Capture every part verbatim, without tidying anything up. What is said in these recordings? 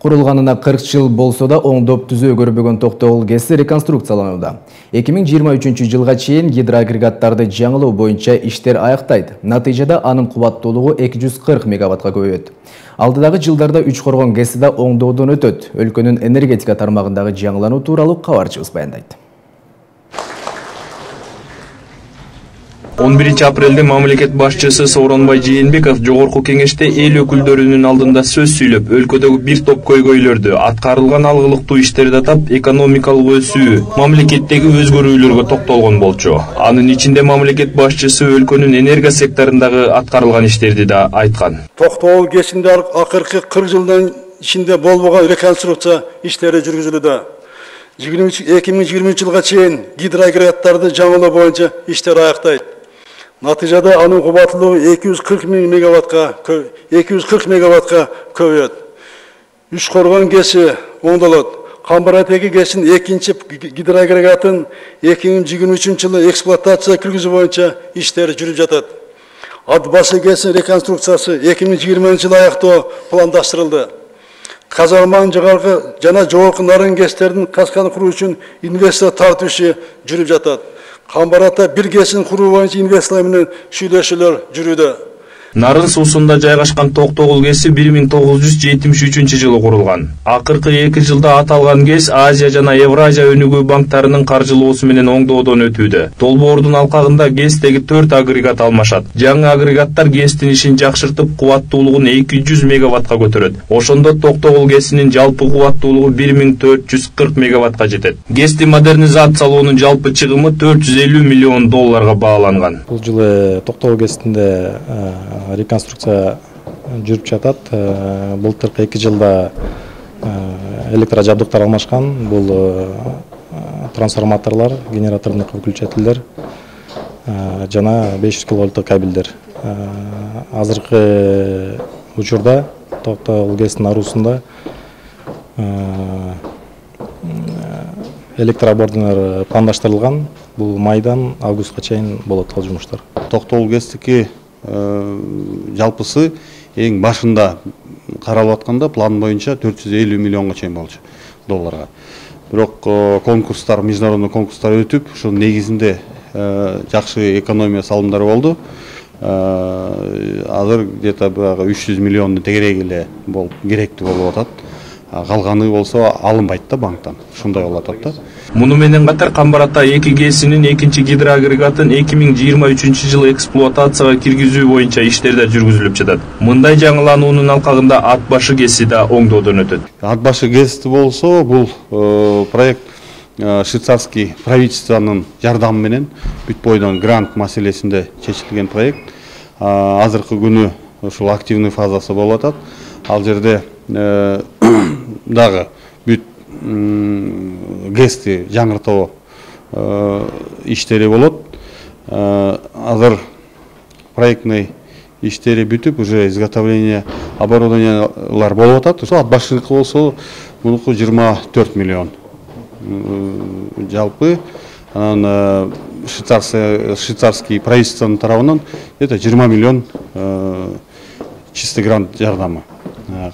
Курулганына кырк жыл болсо да оңдоп түзөө көрбөгөн Токтогул ГЭСи реконструкцияланууда. эки миң жыйырма үчүнчү жылга чейин гидроагрегаттарды жаңылоо боюнча иштер аяктайт. Натыйжада анын кубаттуулугу эки жүз кырк мегаваттка көбөйөт. Алдыдагы жылдарда үч коргон ГЭСи да оңдоодон өтөт. Өлкөнүн энергетика тармагындагы жаңылануу тууралуу кабарчыбыз баяндайт. он биринчи апрелде мамлекет башчысы Сооронбай Жээнбеков жогорку кеңеште эл өкүлдөрүнүн алдында сөз сүйлөп, өлкөдөгү бир топ көйгөйлөрдү, аткарылган алгылыктуу иштерди атап, экономикалык өсүү, мамлекеттеги өзгөрүүлөргө токтолгон болчу. Анын ичинде мамлекет башчысы өлкөнүн энергия секторундагы аткарылган иштерди да айткан. Токтогул ГЭСинде акыркы кырк жылдын ичинде болбогон реконструкция иштери жүргүзүлүүдө. эки миң жыйырма үчүнчү жылга чейин гидроагрегаттарды жаңылоо боюнча иштер аяктайт. Натыйжада анын кубаттуулугу эки жүз кырк мегаваттка эки жүз кырк мегаваттка көбөйөт. Үч коргон ГЭСи оңдолот. Камбаратеги ГЭСин экинчи гидроагрегатын эки миң жыйырма үчүнчү жылы эксплуатацияга киргизүү боюнча иштер жүрүп жатат. Ат башы ГЭСин реконструкциясы эки миң жыйырманчы жылы аяктоо пландаштырылды. Казалман жогорку жана жогорку нарын ГЭСтердин касканы куруу үчүн инвестор тартуу иши жүрүп жатат. Камбарата бир ГЭСин куруу боюнча инвесторлор менен сүйлөшүүлөр жүрүүдө. Нарын суусунда жайгашкан Токтогул ГЭСи бир миң тогуз жүз жетимиш үчүнчү жылы курулган. Акыркы эки жылда аталган ГЭС Азия жана Евразия өнүгүү банктарынын каржылоосу менен оңдоодон өтүүдө. Долбоордун алкагында ГЭСтеги төрт агрегат алмашат. Жаңы агрегаттар ГЭСтин ишин жакшыртып, кубаттуулугун эки жүз мегаваттка көтөрөт. Ошондо Токтогул ГЭСинин жалпы кубаттуулугу бир миң төрт жүз кырк мегаваттка жетет. ГЭСти модернизациялоонун жалпы чыгымы төрт жүз элүү миллион долларга бааланган. Бул жылы Токтогул ГЭСинде реконструкция жүрүп жатат. Былтыркы эки жылда электр жабдыктар алмашкан. Бул трансформаторлор, генератордук выключателдер жана беш жүз киловольттук кабелдер. Азыркы учурда Токтогул ГЭСинин аруусунда электрооборудованиялар пландаштырылган. Бул майдан августка чейин болот ал жумуштар. Токтогул ГЭСтики жалпысы эң башында каралып атканда план боюнча төрт жүз элүү миллионго чейин болчу долларга. Бирок конкурстар, международный конкурстар өтүп, ошонун негизинде жакшы экономия салымдары болду. Азыр где-то үч жүз миллиондун тегереги эле болуп керектүү болуп атат. Калганы болсо алынбайт да банктан. Ушундай болуп атат да. Муну менен катар Камбарата эки ГЭСинин экинчи гидроагрегатын эки миң жыйырма үчүнчү жылы эксплуатацияга киргизүү боюнча иштер жүргүзүлүп жатат. Мындай жаңылануунун алкагында Ат башы ГЭСи да оңдоодон өтөт. Ат башы ГЭСти болсо, бул проект швейцарский правительствонун жардамы менен бүт бойдон грант маселесинде чечилген проект. Азыркы күнү ушул активный фазасы болуп атат. Ал жерде дагы бүт ГЭСти жаңыртуу иштери болот. Азыр проектный иштери бүтүп, уже изготовление оборудованиялар болуп атат. Ошо Ат башыныкы болсо, мунуку жыйырма төрт миллион жалпы. Анан швейцарский правительствонун тарабынан где-то жыйырма миллион чистый грант жардамы.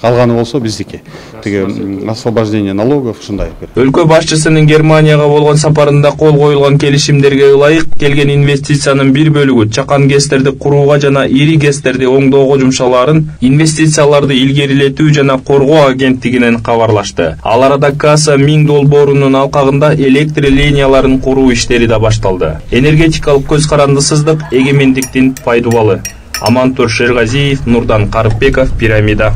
Калганы болсо биздики. Тиги освобождение налогов ушундай. Өлкө башчысынын Германияга болгон сапарында кол коюлган келишимдерге ылайык келген инвестициянын бир бөлүгү чакан ГЭСтерди курууга жана ири ГЭСтерди оңдоого жумшалаарын инвестицияларды илгерилетүү жана коргоо агенттигинен кабарлашты. Ал арада Каса миң долбоорунун алкагында электр линияларын куруу иштери да башталды. Энергетикалык көз карандысыздык эгемендиктин пайдубалы. Амантур Шергазиев, Нурдан Карыпбеков, Пирамида.